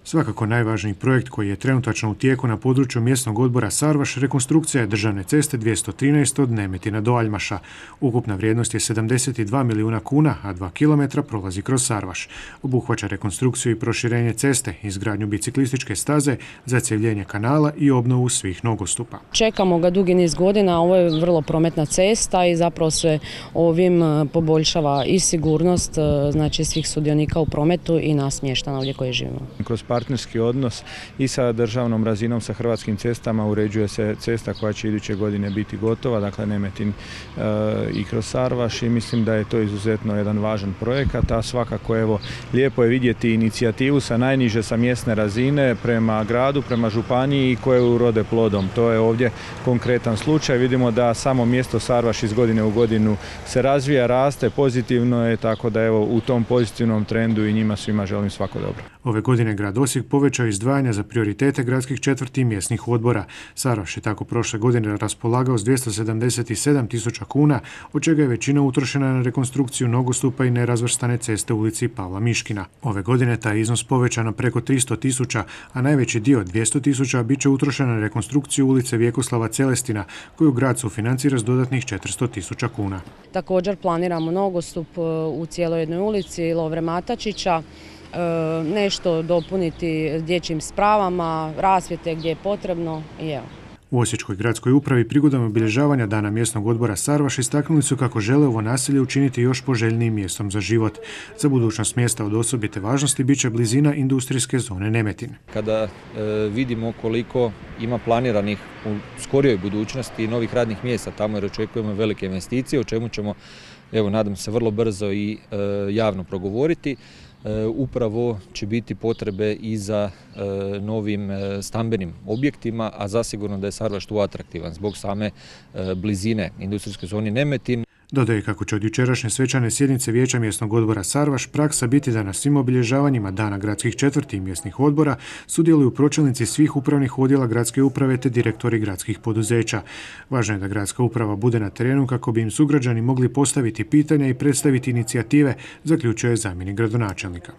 Svakako najvažniji projekt koji je trenutačno u tijeku na području mjesnog odbora Sarvaš rekonstrukcija je državne ceste 213 od Nemetina do Aljmaša. Ukupna vrijednost je 72 milijuna kuna, a 2 km prolazi kroz Sarvaš. Obuhvaća rekonstrukciju i proširenje ceste, izgradnju biciklističke staze, zacjevljenje kanala i obnovu svih nogostupa. Čekamo ga dugi niz godina, ovo je vrlo prometna cesta i zapravo se ovim poboljšava i sigurnost znači svih sudionika u prometu i nas mještana ovdje koji živimo. Kroz partnerski odnos i sa državnom razinom, sa Hrvatskim cestama uređuje se cesta koja će iduće godine biti gotova, dakle Nemetin i kroz Sarvaš, i mislim da je to izuzetno jedan važan projekat, a svakako evo lijepo je vidjeti inicijativu sa najniže, sa mjesne razine prema gradu, prema županiji koje urode plodom. To je ovdje konkretan slučaj. Vidimo da samo mjesto Sarvaš iz godine u godinu se razvija, raste, pozitivno je, tako da evo u tom pozitivnom trendu i njima svima želim svako dobro. Ove godine grad Osijek povećao izdvajanja za prioritete gradskih četvrti i mjesnih odbora. Sarvaš je tako prošle godine raspolagao s 277.000 kuna, od čega je većina utrošena na rekonstrukciju nogostupa i nerazvrstane ceste u ulici Pavla Miškina. Ove godine taj iznos povećan na preko 300.000, a najveći dio 200.000 bit će utrošen na rekonstrukciju ulice Vjekoslava Celestina, koju grad sufinancira s dodatnih 400.000 kuna. Također planiramo nogostup u cijeloj jednoj ulici Lovre Matačića, nešto dopuniti dječjim spravama, rasvjete gdje je potrebno i evo. U Osječkoj gradskoj upravi prigodom obilježavanja Dana mjesnog odbora Sarvaš istaknuli su kako žele ovo naselje učiniti još poželjnijim mjestom za život. Za budućnost mjesta od osobite važnosti bit će blizina industrijske zone Nemetin. Kada vidimo koliko ima planiranih u skorijoj budućnosti novih radnih mjesta tamo, jer očekujemo velike investicije, o čemu ćemo, evo nadam se, vrlo brzo i javno progovoriti, upravo će biti potrebe i za novim stambenim objektima, a zasigurno da je Sarvaš tu atraktivan zbog same blizine industrijske zone Nemetin. Dodaje kako će od jučerašnje svečane sjednice Vijeća mjesnog odbora Sarvaš praksa biti da na svim obilježavanjima Dana gradskih četvrti i mjesnih odbora sudjeluju pročelnici svih upravnih odjela gradske uprave te direktori gradskih poduzeća. Važno je da gradska uprava bude na terenu kako bi im sugrađani mogli postaviti pitanja i predstaviti inicijative, zaključuje zamjenik gradonačelnika.